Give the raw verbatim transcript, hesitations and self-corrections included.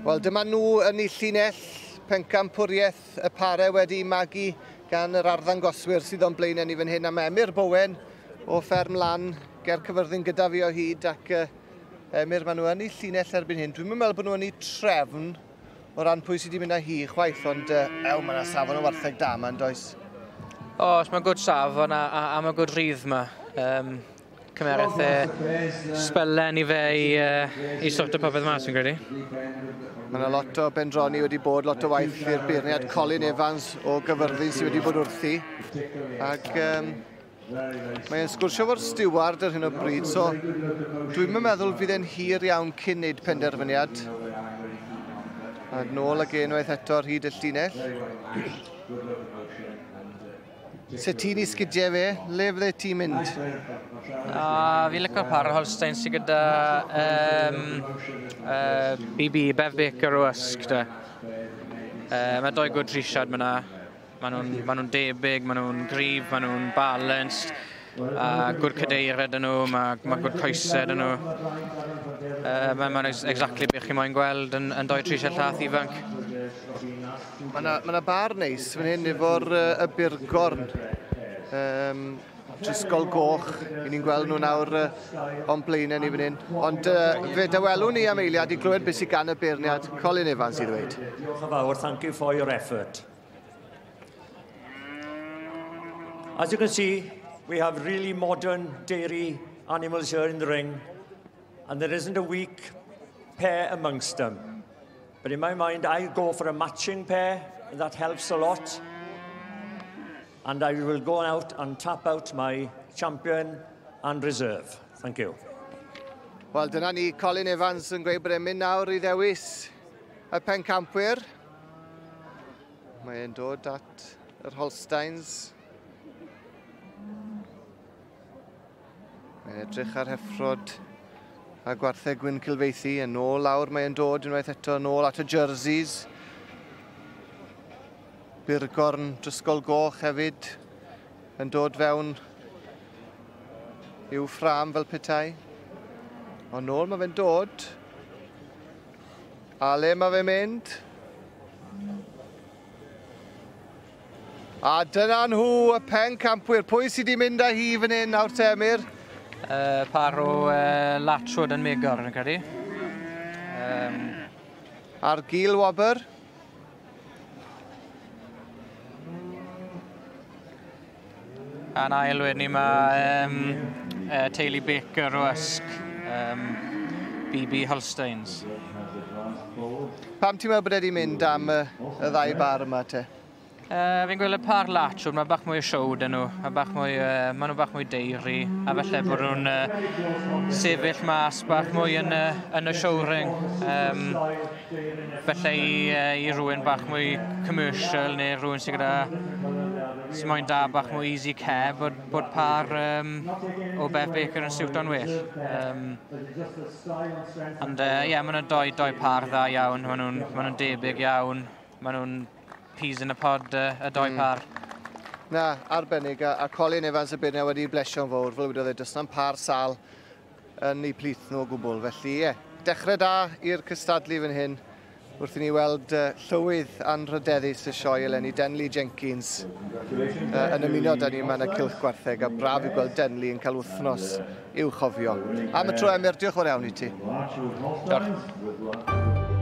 Wel, dyma nhw yn eu llinell pencampwriaeth y pare wedi magu gan yr arddangoswyr sydd o'n blaenau ni fan hyn. A mae Emyr Bowen o Fferm Lan ger Cyfyrddin gyda fi o hyd, ac uh, Emyr, maen nhw yn eu llinell erbyn hyn. Dwi'n meddwl bod nhw yn eu trefn o ran pwy sydd wedi mynd â hi chwaith, ond uh, ew, mae yna safon o wartheg da yma, yn does? Oes, mae'n good safon a, a, a mae'n good rhydd yma. Um, Cymereth e sbelen i fe i, uh, i sorto popeth mas, fi'n credu. Mae yna lot o bendroni wedi bod, lot o waith i'r beirniad Colin Evans o Gyfyrddin sydd wedi bod wrthi. Ac um, mae'n sgwrsio fo'r stiward ar hyn o bryd, so dwi'n meddwl fydd e'n hir iawn cyn wneud penderfyniad. A nôl ag unwaith eto ar hyd y llinell. Se ti'n i sgidiau fe, le fydde ti'n mynd? A, fi'n licio'r par Holstein sydd gyda um, uh, B B, Bev Baker o Ysg. Uh, mae doi good trisiad myna. Maen nhw'n ma nhw debyg, maen nhw'n gryf, maen nhw'n balanced. A good cadeiriau dyn nhw, mae ma good coesau dyn nhw. Uh, Mae'n ma exactly beth chi moyn gweld yn, yn doi trisiad llath ifanc. Mae yna ma bar neis fan hyn efo'r uh, y burgorn. Um, Drisgol goch, i ni'n gweld nhw nawr uh, o'n blaenau ni fan hyn. Ond uh, fe dawelwn ni am eiliad i glywed beth sydd gan y beirniad Colin Evans i ddweud. Diolch yn fawr, thank you for your effort. As you can see, we have really modern dairy animals here in the ring, and there isn't a weak pair amongst them. But in my mind, I go for a matching pair, and that helps a lot. And I will go out and tap out my champion and reserve. Thank you. Wel, dyna ni, Colin Evans yn gweud bod e'n mynd nawr i ddewis y pencampwyr. Mae'n dod at yr Holsteins. Mae'n edrych ar heffrod a gwartheg gwyn Cilfeithi. Yn ôl lawr mae'n dod unwaith eto, yn ôl at y jerseys. Burgorn Drisgol Goch hefyd yn dod fewn i'w ffrâm fel petai. Ond nôl mae fe'n dod. A le mae fe'n mynd? A dyna nhw, y pencampwyr. Pwy sydd wedi mynd â hi fan hyn nawr te, Emyr? Uh, par o uh, Latchwood yn Megor, yn credu. Um... A'r gil wobr? A'n ail wedyn ni mae um, uh, teulu Baker o Ysg, um, B B Holsteins. Pam ti'n meddwl bod wedi mynd am y, y ddau bar yma te? Uh, fi'n gweld y par Latchwood, mae bach mwy o show dyn nhw, mae bach mwy, uh, maen nhw bach mwy deiri, a falle bod nhw'n uh, sefyll mas bach mwy yn, uh, yn y show ring. Um, falle i, uh, i rhywun bach mwy commercial neu rhywun sydd gyda sy'n moyn da bach mwy easy care, bod, bod par um, o Bev Baker yn siwto'n well. Um, ond ie, uh, yeah, maen nhw'n doi, doi par dda iawn, maen nhw'n ma nhw debyg iawn, maen nhw'n peas in a pod, uh, y doi mm. par. Na, arbennig, a, a Colin Evans y beirniad wedi blesio'n fawr, fel wedodd e, does na'm par sal yn eu plith nhw o gwbl. Felly, ie, yeah, dechrau da i'r cystadlu fan hyn, wrth i ni weld uh, llywydd anrhydeddus y sioe eleni, Denley Jenkins, uh, yn ymuno da ni yma yn y Cylch Gwartheg, a braf i gweld Denley yn cael wythnos i'w chofio. Am y tro, Emyr, diolch yn fawr iawn i ti. Diolch.